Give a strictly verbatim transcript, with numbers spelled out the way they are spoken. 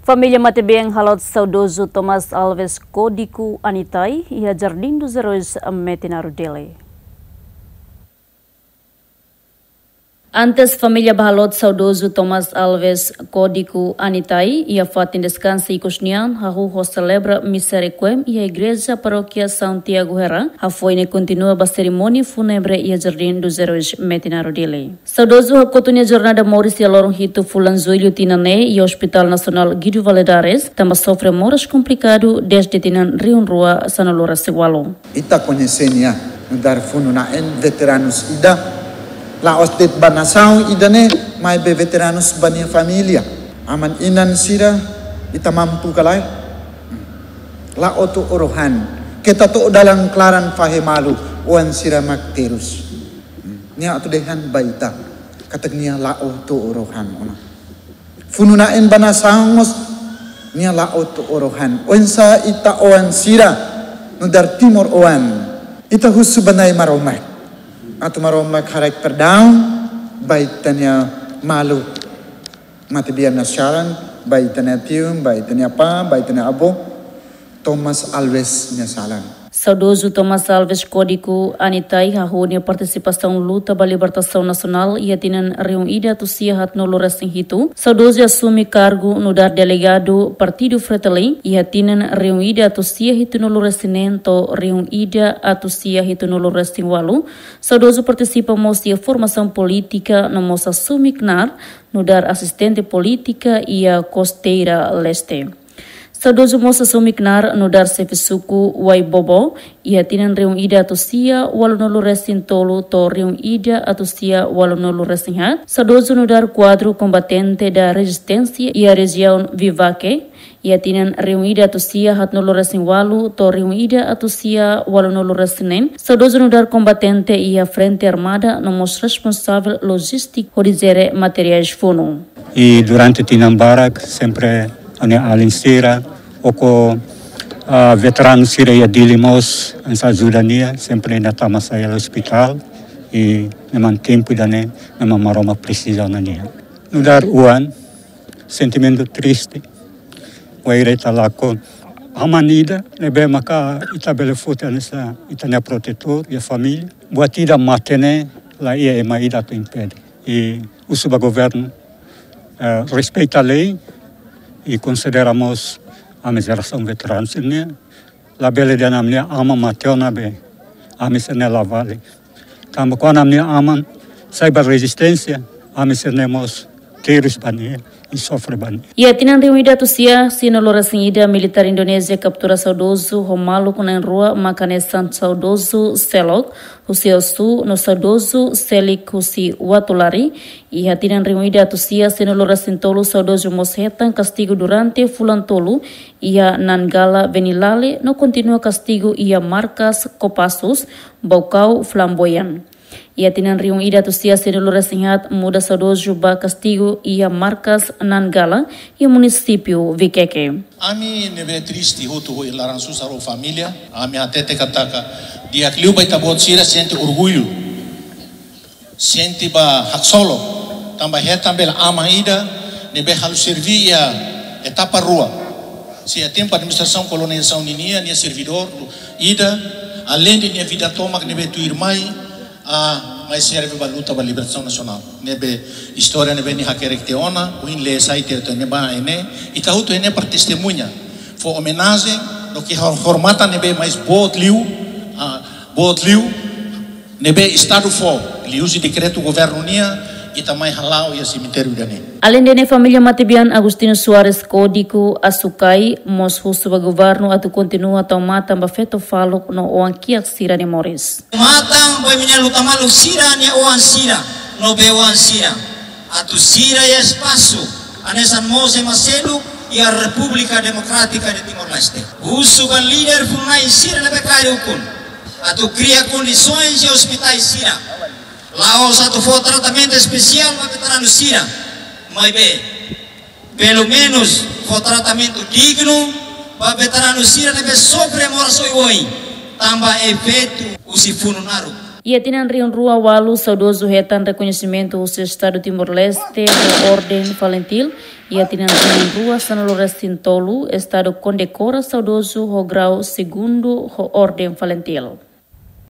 Família matebian haloot saudozu Thomas Alves Código Anitai iha Jardim dos Heróis, Metinaro, Dili. Antes família bá haloot saudozu Thomas Alves Código Anitai iha fatin deskansa ikus nian, hahú ho selebra misa requiem iha Igreja Parókia Santiago Hera, hafoin ne'e kontinua ba serimónia fúnebre iha Jardim dos Heróis, Metinaro, Dili. Saudozu hakotu nia jornada moris iha loron hitu fulan Jullu tinan ne'e iha Hospital Nasionál Guido Valadares, tanba sofre moras komplikadu dezde tinan rihun rua sanulu-resin-ualu. Ita koñese nia nu'udar funu-na'in veteranus ida. La'ós de'it ba nasaun ida-ne'e, maibé veteranus ba nia família. Aman-inan sira, ita mampu ka lae? La'o to'o rohan. Keta to'o dalan klaran fahe malu, oan sira mak terus. Nia atu dehan ba ita katak nia la'o to'o rohan ona. Funu-na'in ba nasaun mós nia la'o to'o rohan. Oinsá ita oan sira nu'udar timoroan, ita husu ba Na'i Maromak atu Maromak haraik perdaun ba ita-nia maluk matebian nia saran, ba ita-nia tiu, ba ita-nia apá, ba ita-nia avó, Thomas Alves nia saran. Saudozu Thomas Alves Código Anitai hahú nia partisipasaun luta ba libertasaun nasionál iha tinan rihun ida atus sia haatnulu-resin-hitu. Saudozu asume kargu nu'udar delegadu Partidu Fretilin iha tinan rihun ida atus sia hitunulu-resin-neen to'o rihun ida atus sia hitunulu-resin-ualu. Saudozu partisipa mós iha formasaun polítika no mós asume knaar nu'udar asistente polítika iha Costeira Leste. Saudozu mós asume knaar nu'udar xefe suku Waibobo iha tinan rihun ida atus sia ualunulu-resin-tolu to'o rihun ida atus sia ualunulu-resin-haat. Saudozu nu'udar kuadru kombatente da rezisténsia iha rejiaun Vivaque iha tinan rihun ida atus sia haatnulu-resin-ualu to'o rihun ida atus sia ualunulu-resin-neen. Saudozu nu'udar kombatente iha Frente Armada no mós responsavel lojístika hodi jere materiais funu. I durante tinan barak sempre ha'u-nia alin sira, ho, ah, veteranu sira iha Dili mós, hanesan ajuda nia, sempre nia tama sai hela ospitál, i memang tempu ida-ne'e, memang Maromak presiza ona nia. Nu'udar oan, sentimentu triste, wainhira ita lakon aman ida ne'ebé maka ita bele foti hanesan ita-nia protetór iha família. Buat ida mate ne'e la iha ema ida atu impede. I husu ba governu, eh, respeita lei i konsidera mós ami jerasaun veteranu sira-nian. Labele dehan ami-nia aman mate ona be ami sira-ne'e la vale. Tanba kuandu ami-nia aman sai ba rezisténsia, ami sira-ne'e mós terus ba nia i sofre ba nia. Iha tinan rihun ida atus sia sianulu-resin-ida, militár Indonézia kaptura saudozu ho maluk na'in-rua, maka hanesan saudozu Selok husi Osu no saudozu Selik husi Uatulari. Iha tinan rihun ida atus sia sianulu-resin-tolu saudozu mós hetan kastigu durante fulan tolu iha Nanggala, Venilale, no kontinua kastigu iha markas Kopassus, Baucau, Flamboyant. Iha tinan rihun ida atus sia sianulu-resin-haat muda saudozu ba kastigu iha markas Nanggala, iha munisípiu Viqueque. Ami ne'ebé triste hotu ho laran susar ho família, ami hatete katak di'ak liu ba ita-boot sira sente orgullu, sente ba haksolok, tanba hetan bele aman ida ne'ebé halo serví iha etapa rua. Se iha tempu administrasaun kolonizasaun ninian, nia servidór ida, aleinde nia vida tomak ne'ebé tuirmai, ah, mai serve ba luta ba libertasaun nasionál. Ne'ebé istória ne'ebé nia hakerek tiha ona, ohin lee sai tiha tiha ne'ebá ne'e, ita hotu ne'e para testemuña. Fó omenajen, no ke hor-, hormatan ne'ebé mais boot liu, ah, boot liu, ne'ebé Estadu fó, liuhusi dekretu governu nian, ita mai hala'o iha semitériu ida-ne'e. Aleinde ne'e, família matebian Agostinho Soares Código Asukai mós husu ba governu atu kontinua tau matan ba feto faluk no oan kiak sira-nia moris. Matan ba imi-nia luta-malu sira-nia oan sira, no bei-oan sira. Atu sira iha espasu, hanesan mós ema seluk iha Repúblika Demokrátika de Timor-Leste. Husu ba líder funu-na'in sira ne'ebé kaer ukun atu kria kondisoens iha ospitais sira. La'ós atu fó tratamentu espesiál ba veteranu sira, maibé pelumenus fó tratamentu dignu ba veteranu sira ne'ebé sofre moras oioin, tanba efeitu husi funu naruk. Iha tinan rihun rua ualu saudozu hetan rekoñesimentu husi Estadu Timor-Leste ho Orden Falintil. Iha tinan rihun rua sanulu resin tolu, Estadu kondekora saudozu ho grau segundu ho Orden Falintil.